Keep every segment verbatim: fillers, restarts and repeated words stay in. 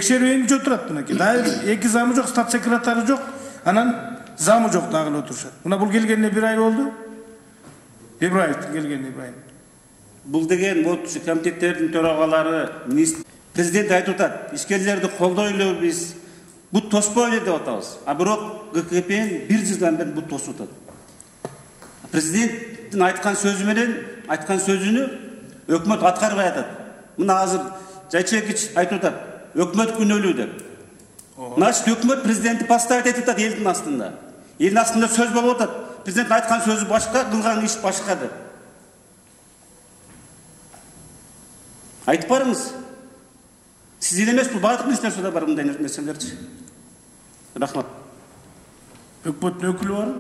текшерүү эмче отурат мынакей. Дайыр эки замы жок, стат секретары жок, анан замы жок дагы эле отурушат. Мына бул келгенине бир ай болду. Ибраевдин келгенине Ибраев. Бул деген вот комитеттердин төрагалары, президент айтып атат, ишкерлерди колдойлу биз, бут тоспойлу деп атабыз. А бирок ГКПнин бир жылдан бери бут тосуп атат. Президенттин айткан сөзү менен, айткан сөзүнү өкмөт аткарбай атат. Мына азыр Жайчекич айтып атат, өкмөт күнөөлүү деп. Значит, өкмөт президентти поставить этип атат элдин астында. Элдин астында сөз болуп атат. Президент айткан сөзү башка, кылган иш башка деп. Айтып барыңыз. Сиз эле эмес, бул баардык министрликтерде бар мындай нерселерчи. Рахмат. Өкмөттүн өкүлү бар.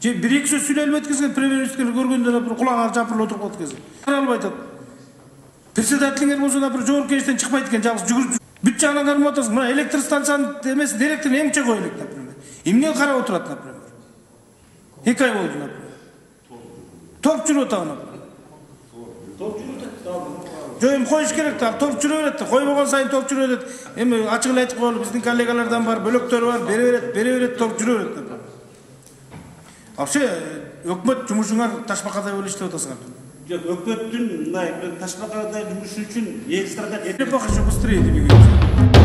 Же бир эки сөз сүйлөп өткөзгөн премьер-министр көргөндө бир кулагына жапырылып отуруп калат экен. Кара албай атат. Председателиңер болсо да бир жоопкерчиликтен чыкпайт экен, жалгыз жүгүрүп. Бүт жагынан кармап атасың. Мына электр станциянын эмес директорун эмче кой элек, например. Эмне карап отурат, например. эки ай болду, например. Топ жүрүп атабы, например. Топ жүрүп атат. Жо эми коюш керек да, топ жүрө берет да. Койбогон сайын топ жүрө берет. Эми ачык эле айтып коелу, биздин коллегалардан бар, бөлөктөрү бар, бере берет, бере берет, топ жүрө берет, например. Вообще, өкмөт жумушуңар ташбакадай болуп иштеп атасыңар. Жок, өкмөттүн мындай ташбакадай жумушу үчүн эл страда быстрее.